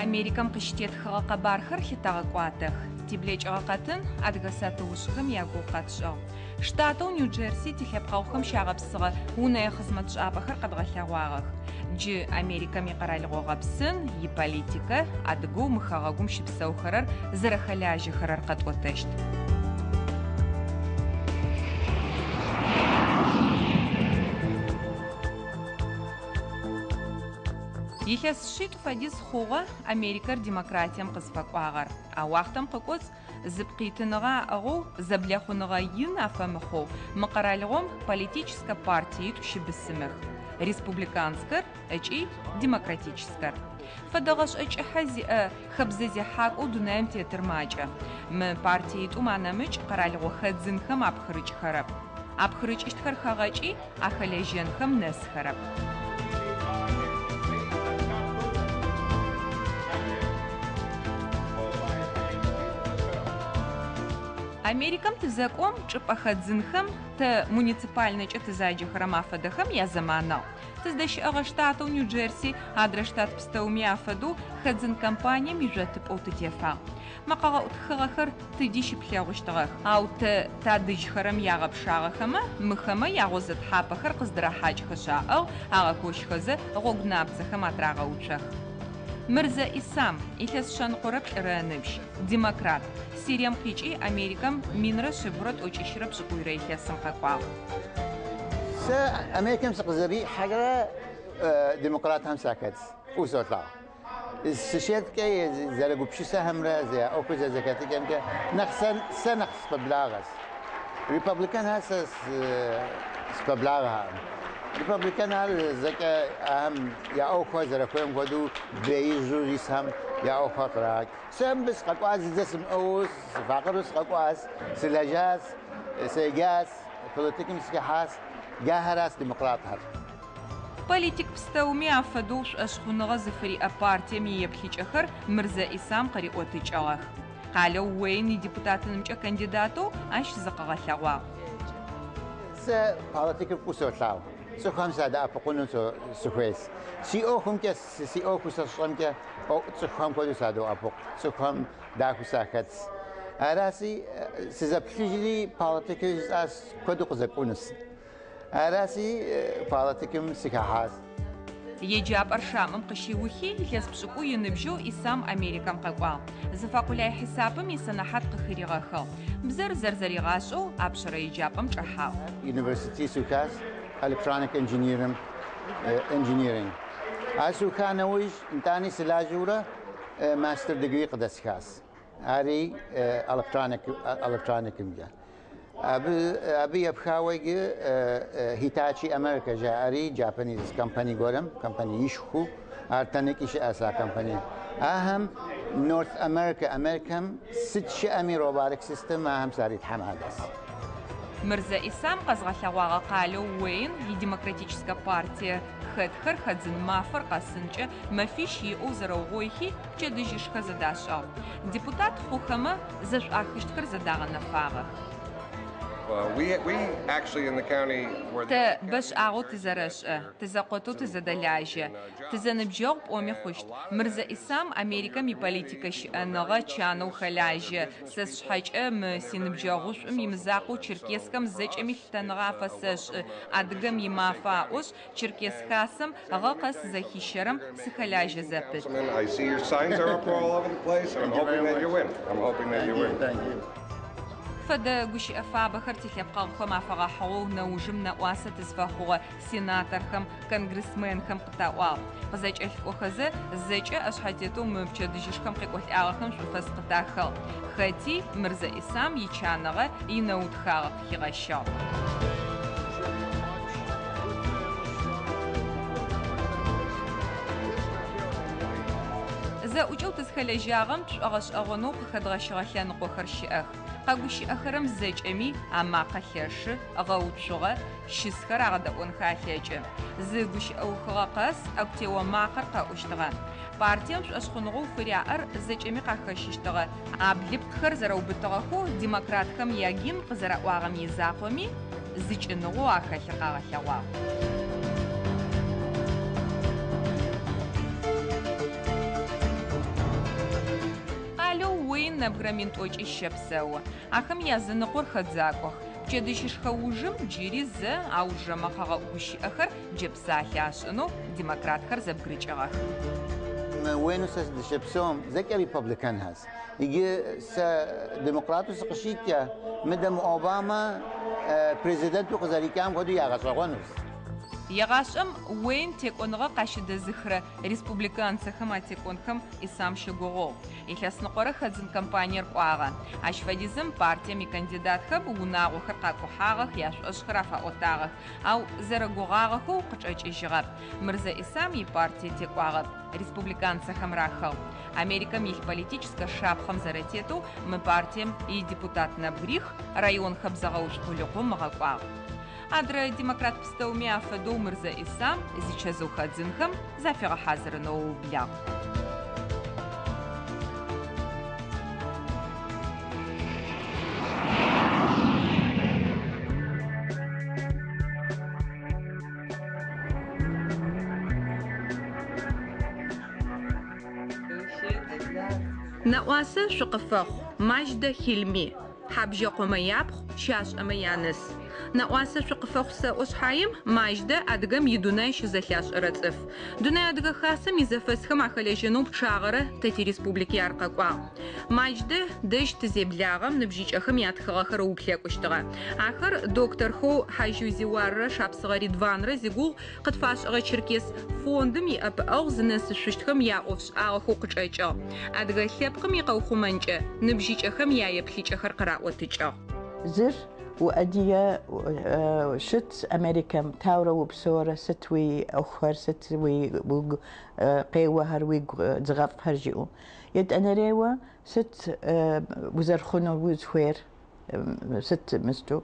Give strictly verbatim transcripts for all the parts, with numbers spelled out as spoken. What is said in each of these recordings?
Америкэм къыщытетхыгъэ къэбархэр лъытэгъэкӏуатэх. Тиблэкӏыгъэ къэтын адыгэ сатыушӏхэм ягугъу къэтшӏыгъ. Штатэу Нью-Джерси тилъэпкъэгъухэм щагъэпсыгъэ унэе хъызмэтшӏапӏэхэр къэдгъэлъэгъуагъэх. Джы Америкэм икъэралыгъо гъэпсын, иполитикэ, адыгэу мы хэгъэгум щыпсэухэрэр зэрэхэлажьэхэрэр къэтӏотэщт. Илъэс шъитӏу фэдиз хъугъэ Америкэр демократием къызфэкӏуагъэр. А уахътэм къыкӏоцӏ зыпкъитыныгъэ аӏыгъэу зэблэхъуныгъэ ин афэмыхъоу мы къэралыгъом политическэ партиитӏу щыбысымых: республиканскэр ыкӏи демократическэр. Фэдэ гъэшӏэ кӏыхьэ зиӏэ хэбзэ зехьакӏоу дунаим тетыр макӏэ. Мы партиитӏум анэмыкӏ къэралыгъо хэдзынхэм апхырыкӏхэрэп. Апхырыкӏыщтхэр хэгъэкӏи ахэлэжьэнхэм нэсхэрэп. Америкэм тызэкӏом чӏыпӏэ хэдзынхэм тэ муниципальнэкӏэ тызаджэхэрэм афэдэхэм язэманыгъ. Тыздэщыӏэгъэ штатэу Нью-Джерси адрэ штат пстэуми афэдэу хэдзын компанием ижъотыпӏэу тытефагъ. Мэкъэгъэӏу тхыгъэхэр тыди щыплъэгъущтыгъэх. Ау тэ тадыжьхэрэм ягъэпшагъэхэмэ, мыхэмэ ягъозэ тхьапэхэр къыздырахьакӏхэшъ аӏыгъ, агъэкощхэзэ гъогу напцэхэм атрагъэуцох. Мырзэ Исам, илъэс шъэныкъорэ плӏырэ ыныбжь, демократ. Сирием къикӏи Америкэм минрэ шъибгъурэ тӏокӏищрэ пшӏыкӏуйрэ илъэсым къэкӏуагъ. Сэ Америкэм сыкъызэрихьэрэ демократхэм сахэт, фӏыуэ солъагъу. Сыщеткӏэ зэрэгупшысэхэмрэ ӏуэхур зэрэзэхэтыкӏэмкӏэ нэхъ сэ нэхъ спэблагъэс. Республиканхэр сэ спэблагъэхэм. Республиканхэр зэкӏэ ахэм я ӏуэхухэр зэрэхуейм хуэдэу беижьу исхэм я ӏуэхухэр кърагъэкӏ. Сэ мыбы сыкъэкӏуащ зыдзэ сымыӏыгъыу, сыфакъырэу сыкъэкӏуащ, сылэжьащ, седжащ, политикым сыхыхьащ, джахэращ демократхэр. Политик пстэуми афэдэу шӏошъхъуныгъэ зыфыриӏэ партием иеплъыкӏэхэр Мырзэ Исам къыриӏотыкӏыгъэх. Къалэу Уэйн идепутатынымкӏэ кандидатэу ащ зыкъыгъэлъэгъуагъ. Сэ политикыр фӏыуэ солъагъу. Цӏыхухэм садэӏэпыкъуну сыхуейс. Си ӏуэхумкӏэ, си ӏуэхуу сэ сщӏэмкӏэ цӏыхухэм хуэдэу садоӏэпыкъу, цӏыхухэм дахэу сахэтс. Араси сызэплъыжри политикыр жысӏащ куэду къызэкӏунус. Араси политикым сыхыхьащ. Еджапӏэр Шамым къыщиухи илъэс пшӏыкӏуй ыныбжьэу Исам Америкэм къэкӏуагъ. Зыфэкъулай хьисапым исэнэхьат къыхыригъэхыгъ. Бзэр зэрзэригъашӏэу апшъэрэ еджапӏэм чӏэхьагъ. University сухащ electronic engineering engineering. Ар суха нэужь нтӏани сылажьэурэ master degree къыдэсхащ. Ари electronic electronicымкӏэ. Абы абы епхауэ иджы Hitachi America жаӏэри Japanese company гуэрым, компаниишхуэу, ар тэнэкӏи щыӏэщ а компани. Ахэм North America, Америкэм сыт щыӏэми robotic system ахэм саритхьэмадэс. Мырзэ Исам къэзгъэлъэгъуагъэ къалэу Уэйн идемократическэ партие хэтхэр хэдзын мафэр къэсынкӏэ мэфищ иӏэу зэрэугъойхи пчэдыжьышхэ зэдашӏыгъ. Депутат хъухэмэ зэшӏуахыщтхэр зэдагъэнэфагъэх. Тэ бэшӏагъэу тызэрэшӏэ, тызэкъотэу тызэдэлажьэ, тызэныбджэгъу пӏоми хъущт. Мырзэ Исам Америкэм иполитикэ щыӏэныгъэ чанэу хэлажьэ. Сэ сшъхьэкӏэ мы синыбджэгъушӏум имызакъоу Черкесскэм зэкӏэми лъытэныгъэ афэсэшӏы. Адыгэм имафэ аӏошъ, Черкес хасэм гъэ къэс зэхищэрэм сыхэлажьэ зэпыт. Фэдэ гущыӏэ фабэхэр тилъэпкъэгъухэм афэгъэхьыгъэу нэужым нэӏуасэ тызфэхъугъэ сенаторхэм, конгрессменхэм къытаӏуагъ. Къызэкӏэлъыкӏохэзэ зэкӏэ ӏэшъхьэтетэу мы пчэдыжьышхэм къекӏолӏагъэхэм шӏуфэс къытахыгъ. Хэти Мырзэ Исам ичаныгъэ инэутхагъэ къыхигъэщыгъ. Зэӏукӏэу тызхэлэжьагъэм тшӏогъэшӏэгъонэу къыхэдгъэщыгъэ лъэныкъохэр щыӏэх. Къэгущыӏэхэрэм зэкӏэми амакъэ лъэшы, гъэуцугъэ, щысхэр агъэдэӏонхэ алъэкӏы. Зы гущыӏэухыгъэ къэс ӏэгу-тео макъэр къэӏущтыгъэ. Партием шӏошъхъуныгъэу фыряӏэр зэкӏэми къахэщыщтыгъэ. Аблыпкъхэр зэрэубытыгъэхэу демократхэм ягимн къызэраӏуагъэм изакъоми зыкӏыныгъэу ахэлъыр къагъэлъэгъуагъ. Къалэу Уэйн нэбгырэ мин тӏокӏищ щэпсэу. Ахэм языныкъор хэдзакӏох. Пчэдыжьышхэ ужым джыри зэ аужырэ мэкъэгъэӏу гущыӏэхэр джэпсалъэ ашӏынэу демократхэр зэбгырыкӏыгъэх. Уэйну сэ сыдыщэпсэум зэкӏэ республиканхэс. Иджы сэ демократу сыкъыщикӏэ, мыдэм Обама президенту къызэрикӏам хуэдэу ягъэщӏэгъуэнущ. Егъашӏэм Уэйн текӏоныгъэ къащыдэзыхырэ республиканцэхэм атекӏонхэм Исам щыгугъугъ. Илъэсныкъорэ хэдзын кампаниер кӏуагъэ. Ащ фэдизым партием икандидатхэм унагъохэр къакӏухьагъэх, яшӏошӏхэр афаӏотагъэх, ау зэрэгугъагъэхэу къычӏэкӏыжьыгъэп. Мырзэ Исам ипартие текӏуагъэп, республиканцэхэм рахыгъ. Америкэм илъ политическэ шапхъэм зэрэтетэу мы партием идепутат нэбгырих район хэбзэгъэуцу къулыкъум ыгъэкӏуагъ. Адрэ демократ пстэуми афэдэу Мырзэ Исам зичэзыу хэдзынхэм зафигъэхьазырынэу ыублагъ. Нэӏуасэ шъукъыфэхъу, Маждэ Хилми, Хьабжьэкъомэ япхъу, Щашӏэмэ яныс. Нэӏуасэ шъукъыфэхъу сэӏо шъхьаем Маждэ адыгэм идунай щызэлъашӏэрэ цӏыф. Дунай Адыгэ Хасэм изэфэсхэм ахэлэжьэнэу пчъагъэрэ тэ тиреспублики ар къэкӏуагъ. Маждэ дэжь тызеблагъэм ныбжьыкӏэхэм ятхыгъэхэр ыуплъэкӏущтыгъэ. Ахэр докторхэу Хьажьу Зиуаррэ Шапсыгъэ Ридванрэ зигугъу къытфашӏыгъэ Черкес фондым иӏэпыӏэгъу зынэсышъущтхэм яӏофшӏагъэхэу къычӏэкӏыгъ. Адыгэ лъэпкъым икъэухъумэнкӏэ ныбжьыкӏэхэм яеплъыкӏэхэр къыраӏотыкӏыгъ. Зыр уадыгэ щыт Америкэм таурэ упсэурэ сыт уи ӏуэхухэр, сыт уи угу къеуэхэр, уигу дзыгъэфӏхэр жиӏэу. Етӏанэрейуэ сыт узэрыхъуну узыхуейр, сыт мысту.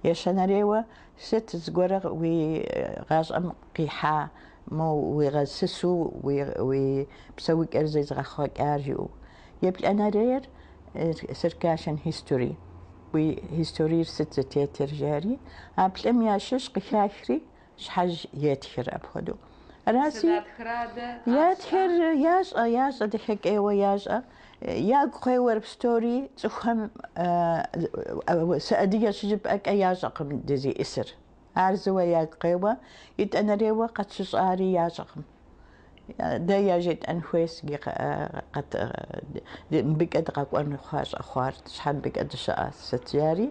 Ещанэрейуэ сыт зыгуэрэ уи гъащӏэм къихьа, мо уигъэсысу, уи псэукӏэр зезыгъэхъуэкӏар жиӏэу. Еплӏанэрейр Circassian history. Уи историер сыт зытетыр жари, а плӏым ящыщ къыхахри щхьэж етхыр апхуэдэу. Араси ятхыр ящӏэ, ящӏэ, дахэкӏейуэ ящӏэ. Ягу къеуэр псори цӏыхухэм сыадыгэ щыжыпӏэкӏэ ящӏэкъым дызиӏысыр. Ар зыуэ ягу къеуэ, итӏанэрейуэ къэтщыщӏари ящӏэкъым. Дэ яжетӏэн хуейс мыбыкӏэ дыкъэкӏуэн щӏэхъуар, щхьэ мыбыкӏэ дыщыӏэ сыт жари,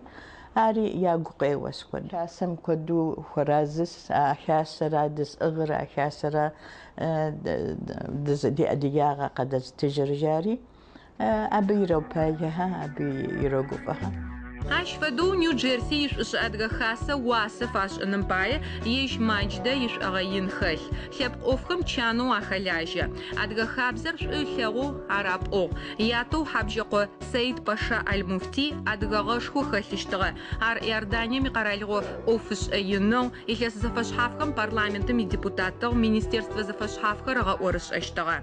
ари ягу къеуэс куэд. Хасэм куэду хуэразыс, а хасэра дызӏыгъыр, а хасэра ди адыгагъэ къэдэзытыжыр жари, абы иропагэхэ, абы ирогуфӏэхэ. Ащ фэдэу Нью-Джерси ишӏушӏэ Адыгэ Хасэ уасэ фашӏыным пае ежь Мадждэ ишӏогъэ ин хэлъ. Лъэпкъ ӏофхэм чанэу ахэлажьэ. Адыгэ хабзэр шӏу ылъэгъоу ар апӏугъ. Ятэу Хьабжьэкъо Саид Паша Аль-Муфти адыгэгъэшхо хэлъыщтыгъэ. Ар Иорданием икъэралыгъо ӏофышӏэ инэу, илъэс зэфэшъхьафхэм парламентым идепутатыгъ, министерствэ зэфэшъхьафхэр ыгъэӏорышӏэщтыгъэ.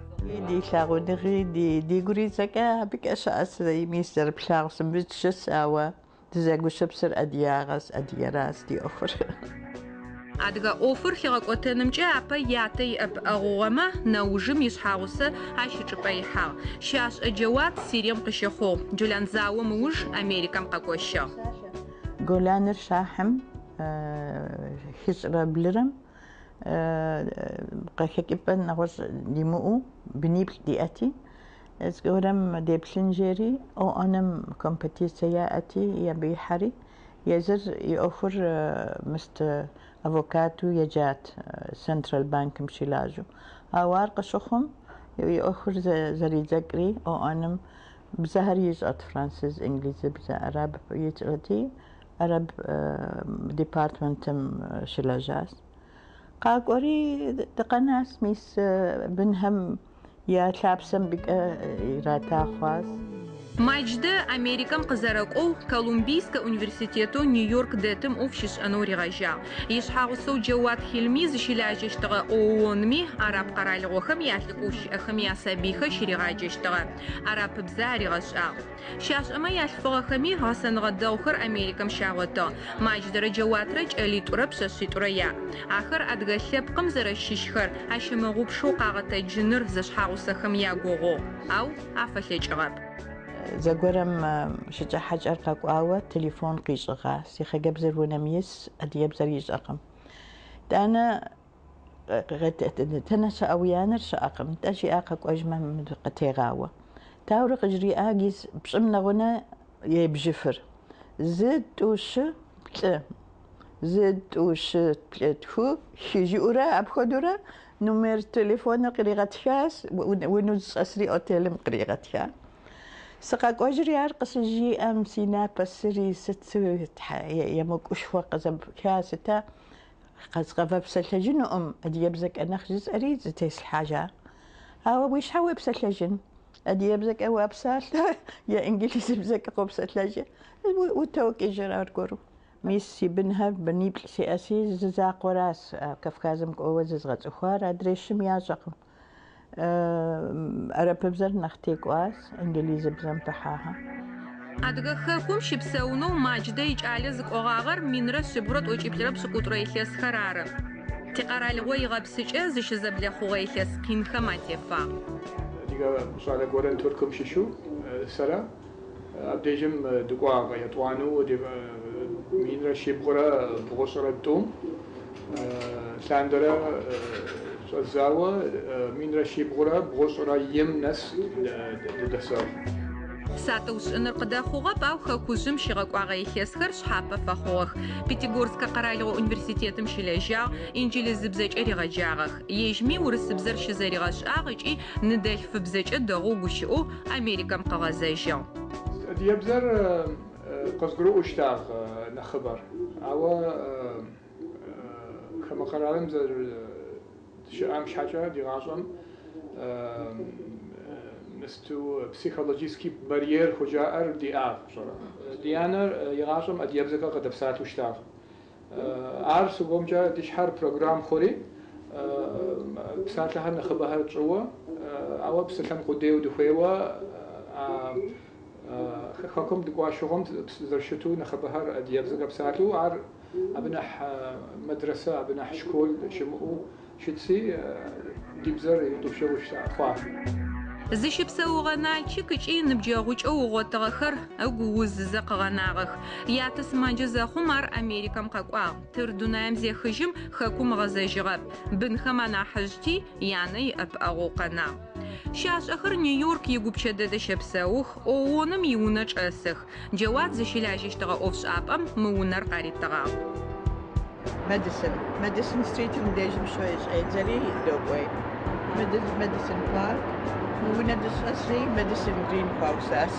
Ди лъагъуныгъи, ди дигури зэкӏэ абыкӏэ щыӏэс, мис зэрыплъагъу сымбыт щыс, ауэ дызэгущыпсыр адыгагъэс, адыгэрас ди ӏуэхур. Адыгэ ӏофыр хигъэкӏотэнымкӏэ апэ ятэ иӏэпыӏэгъугъэмэ, нэужым ишъхьагъусэ ащ ичӏыпӏэ ихьагъ. Щашӏэ Джэуат Сирием къыщыхъугъ. Джолан заом ыуж Америкэм къэкӏощыгъ. Голаныр щахьым хыщӏрэ блырэм къыхэкӏыпӏэ нэгъуэщӏ димыӏэу быниплӏ диӏэти, зыгуэрым деплъын жери ООН-м компетицие яӏэти, абы ихьэри, езыр и ӏуэхур мыст авокату еджат Централ банкым щылажьэу. Ауэ ар къыщыхъум и ӏуэхур зэридзэкӏри ООН-м бзэхэр ищӏэт, француз, инглизыбзэ, араб ищӏэти, араб департаментым щылэжьащ. Къакӏуэри дыкъэнащ, мис бынхэм Я лъапсэм быкӏэ ирата хъуащ. Мадждэ Америкэм къызэрэкӏоу Колумбийскэ университетэу Нью-Йорк дэтым ӏоф щишӏэнэу ригъэжьагъ. Ишъхьэгъусэу Джэуат Хилми зыщылажьэщтыгъэ ООН-ми араб къэралыгъохэм ялӏыкӏоу щыӏэхэм ясабыйхэр щыригъаджэщтыгъэ. Арапыбзэ аригъэшӏагъ. Щашӏэмэ ялъфыгъэхэми гъэсэныгъэ дэгъухэр Америкэм щагъотыгъ. Мадждэрэ Джэуатрэ кӏэлитӏурэ пшъэшъитӏурэ яӏ. Ахэр адыгэ лъэпкъым зэрэщыщхэр ащымыгъупшэу къагъэтэджыныр зэшъхьэгъусэхэм ягугъугъ. Ау афэлъэкӏыгъэп. Зэгуэрым щыкӏэ хьэкӏэр къэкӏуауэ телефон къищӏыгъа. Си хъыджэбзыр унэм ис, адыгэбзэр ищӏэкъым. Тӏанэ тэнэ щыӏэ уи анэр щыӏэкъым. Тӏэ жиӏа къэкӏуэжмэ къытегъауэ. Таурэ къыжриӏа гис пщӏым нэгъунэ ебжыфыр. Зы, тӏу, щы, плӏы. Зы, тӏу, щы, плӏы, тху, хы жиӏэурэ апхуэдэурэ номер телефоныр къригъэтхащ, унэу зыщӏэсри отелым къригъэтха. Сыкъэкӏуэжри ар къыщыжиӏэм си напэ сыри сыт емыкӏушхуэ къызэпха сыта къэзгъэпсэлъэжынукъым адыгэбзэкӏэ нэхъ жысӏэри зытеслъхьэжа. Ауэ уи щхьэ уепсэлъэжын? Адыгэбзэкӏэ уапсалъэ е инглызыбзэкӏэ къопсэлъэжи утокӏыжыр аргуэру. Мис си бынхэр быниплӏ сиӏэси зы закъуэращ Кавказым кӏуэуэ зызгъэцӏыхуар, адрей щым ящӏэкъым. Арапыбзэр нэхъ текӏуащ, инглызыбзэм пыхьаха. Адыгэ хэкум щыпсэунэу Мадждэ икӏалэ зыкӏогъагъэр минрэ шъибгъурэ тӏокӏиплӏырэ пшӏыкӏутӏурэ илъэсхэр ары. Тикъэралыгъо игъэпсыкӏэ зыщызэблэхъугъэ илъэс къинхэм атефагъ. Адыгэ щӏалэ гуэрэн Туркум щыщу сэрэ абдежым дыкӏуагъэ етӏуанэу минрэ щибгъурэ бгъущӏрэ тӏум лъандэрэ щӏэдзауэ минрэ щибгъурэ бгъущӏрэ им нэс дыдэсыгъ. Сатыу шӏыныр къыдэхъугъэп, ау хэкужъым щигъэкӏуагъэ илъэсхэр шъхьапэ фэхъугъэх. Пятигорскэ къэралыгъо университетым щылэжьагъ, инджылызыбзэкӏэ ригъэджагъэх. Ежьми урысыбзэр щызэригъэшӏагъ ыкӏи ныдэлъфыбзэкӏэ дэгъоу гущыӏэу Америкэм къыгъэзэжьыгъ. Адыгэбзэр къызгурыӏуэщтагъ нэхъыбэр. Ауэ хамэ къэралым зэрыщыӏам щхьэкӏэ ди гъащӏэм мысту психологический барьер хужаӏэр диӏагъ пщӏэрэ. Ди анэр и гъащӏэм адыгэбзэкӏэ къыдэпсалъэу щытагъ. Ар сыгуэмкӏэ ди щхьэр программ хъури псалъэхэр нэхъыбэхэр тщӏыуэ, ауэ псэлъэн къудейуэ дыхуейуэ хэкум дыкӏуа щыгъуэм зэрыщыту нэхъыбэхэр адыгэбзэкӏэ псалъэу, ар абы нэхъ мэдрэсэ, абы нэхъ школ щымыӏэу щытси, ди бзэр итӏупщыгъэу хъуа. Зыщыпсэугъэ Налчик ыкӏи ныбджэгъукӏэу ыгъотыгъэхэр ыгу узызэ къыгъэнагъэх. Ятэ сымаджэ зэхъум ар Америкэм къэкӏуагъ. Тыр дунаим зехыжьым хэкум ыгъэзэжьыгъэп. Бынхэм анахьыжъти янэ иӏэпыӏэгъоу къэнагъ. Щашӏэхэр Нью-Йорк игупчэ дэдэ щэпсэух, ООН-м иунэ чӏэсых. Джэуат зыщылажьэщтыгъэ ӏофшӏапӏэм мы унэр къаритыгъагъ. Мэдисон. Мэдисон стритым дежым щӏедзэри докӏуей. Мэдисон парк. Мы унэ дыщӏэсри Мэдисон Грин хуаусащ.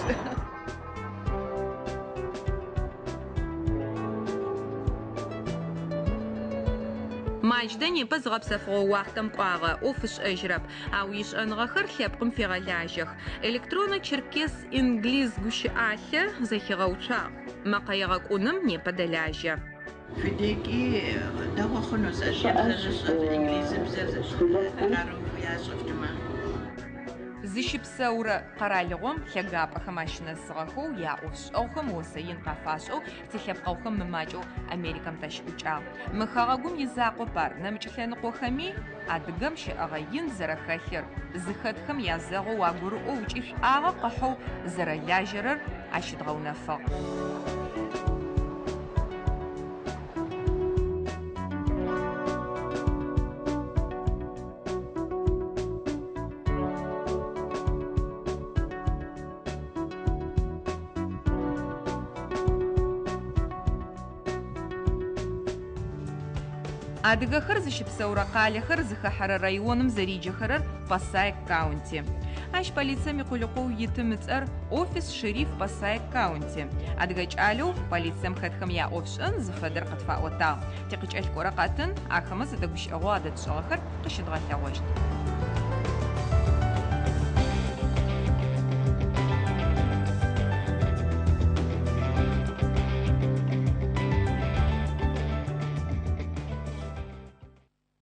Мадждэ непэ зыгъэпсэфыгъо уахътэм кӏуагъэ, ӏоф ышӏэжьырэп, ау ишӏэныгъэхэр лъэпкъым фегъэлажьэх. Электронэ черкес инглиз гущыӏалъэ зэхигъэуцуагъ. Мэкъэ егъэкӏуным непэ дэлажьэ. Фи декӏи дэгъуэ хъуну адыгэбзэр зыщӏэр, инглизыбзэр къару ящӏыфтмэ. Зыщыпсэурэ къэралыгъом лъэгапӏэхэм ащынэсыгъэхэу яӏофшӏэгъухэм осэ ин къафашӏэу тилъэпкъэгъухэм мымакӏэу Америкэм тащыӏукӏагъ. Мы хэгъэгум изакъоп ар, нэмыкӏ лъэныкъохэми адыгэм щыӏэгъэ ин зэрэхэлъыр, зыхэтхэм язэгъоу агурыӏоу ыкӏи шӏуагъэ къыхьэу зэрэлажьэрэр ащыдгъэунэфыгъ. Адыгэхэр зыщыпсэурэ къалэхэр зыхэхьэрэ районым зэриджэхэрэр Пасайк каунти. Ащ полицием икъулыкъоу итым ыцӏэр офис шериф Пасайк каунти. Адыгэ кӏалэу полицием хэтхэм яӏофшӏэн зыфэдэр къытфаӏотагъ. Тикъыкӏэлъыкӏорэ къатын ахэмэ зэдэгущыӏэгъоу адэтшӏыгъэхэр къыщыдгъэлъэгъощт.